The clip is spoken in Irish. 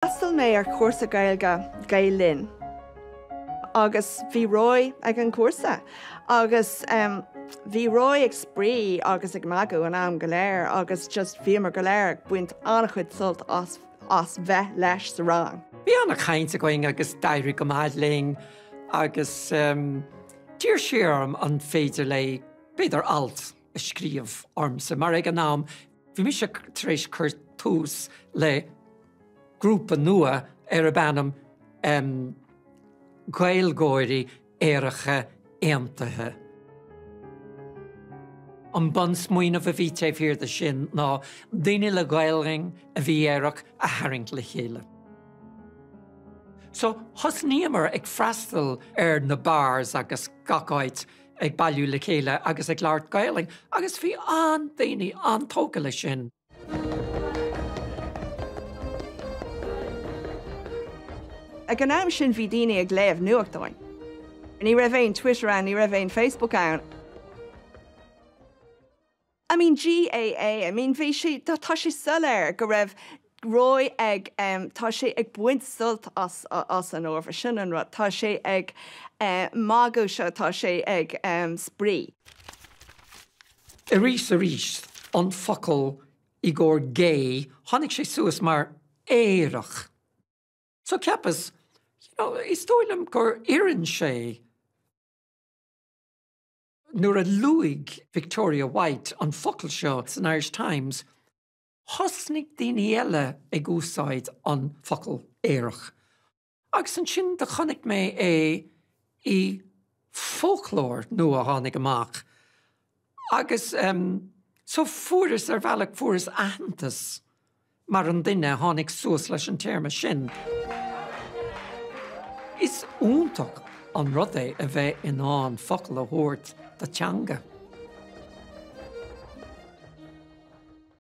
D'fhreastail mé ar chúrsa Gaeilge Gael Linn agus bhí Roy ag an cúrsa agus bhí Roy ag spraoi agus ag magadh an am go léir agus just bhíomar go léir ag baint an-chuid sult as as bheith leis sa rang. Bhí an-chaint againn agus d'éirigh go maith linn agus d'iarr sí orm an féidir léi b'fhéidir alt a scríobh ormsa mar ag an am Bhí mise tar éis cur tús le grúpa nua arb ainm Gaeilgeoirí Aeracha Aontaithe. An bunsmaoineamh a bhí taobh thiar de sin ná daoine le Gaelainn a bhí aerach a tharraingt le chéile. So thosnaíomar ag freastal ar na bars agus gach áit ag bailiú le chéile agus ag labhairt Gaelainn agus bhí an-daoine an-tógtha leis sin. Ag an am sin bhí daoine ag léamh nuachtáin. Ní raibh aon Twitter ann, ní raibh aon Facebook ann. I mean GAA, I mean bhí sé, tá sé soiléir go raibh Roy ag, tá sé ag baint sult as, as an ábhar, sin an rud, tá sé ag magadh seo, tá sé ag spraoi. Arís arís, an focal i gcomhair gay, tháinig sé suas mar aerach. So cheapas, you know, is dóigh liom gur oireann sé. Nuair a luaigh Victoria White an focal seo san Irish Times, thosnaigh daoine eile ag úsáid an focal aerach. Agus ansin do chonaic mé é i foclóir nua a tháinig amach agus so fuaireas, ar bhealach, fuaireas aitheantas mar an duine a tháinig suas leis an téarma sin. Is iontach an rud é a bheith in ann focal a thabhairt do teanga.